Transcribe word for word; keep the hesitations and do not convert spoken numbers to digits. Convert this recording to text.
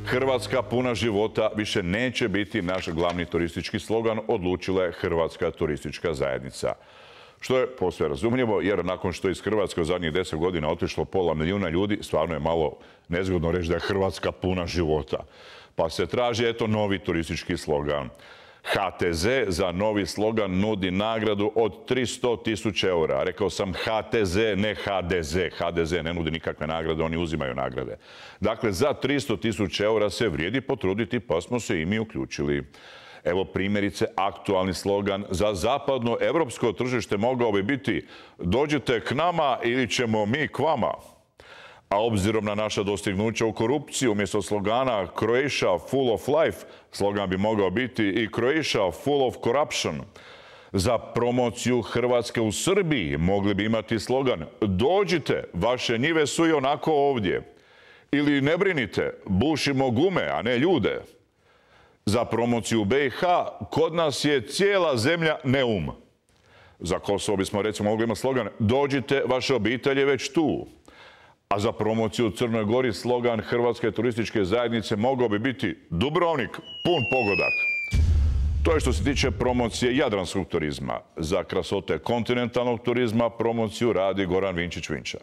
Hrvatska puna života više neće biti naš glavni turistički slogan, odlučila je Hrvatska turistička zajednica. Što je posve razumljivo, jer nakon što je iz Hrvatske u zadnjih deset godina otišlo pola milijuna ljudi, stvarno je malo nezgodno reći da je Hrvatska puna života. Pa se traži, eto, novi turistički slogan. H T Z za novi slogan nudi nagradu od tristo tisuća eura. Rekao sam H T Z, ne H D Z. H D Z ne nudi nikakve nagrade, oni uzimaju nagrade. Dakle, za tristo tisuća eura se vrijedi potruditi, pa smo se i mi uključili. Evo primjerice, aktualni slogan za zapadno evropsko tržište mogao bi biti dođite k nama ili ćemo mi k vama. A obzirom na naša dostignuća u korupciji, umjesto slogana Croatia full of life, slogan bi mogao biti i Croatia full of corruption. Za promociju Hrvatske u Srbiji mogli bi imati slogan dođite, vaše njive su i onako ovdje. Ili ne brinite, bušimo gume, a ne ljude. Za promociju B i H kod nas je cijela zemlja neum. Za Kosovo bismo recimo mogli imati slogan dođite, vaše obitelj je već tu. A za promociju u Crnoj Gori slogan Hrvatske turističke zajednice mogao bi biti Dubrovnik, pun pogodak. To je što se tiče promocije jadranskog turizma. Za krasote kontinentalnog turizma promociju radi Goran Vinčić-Vinča.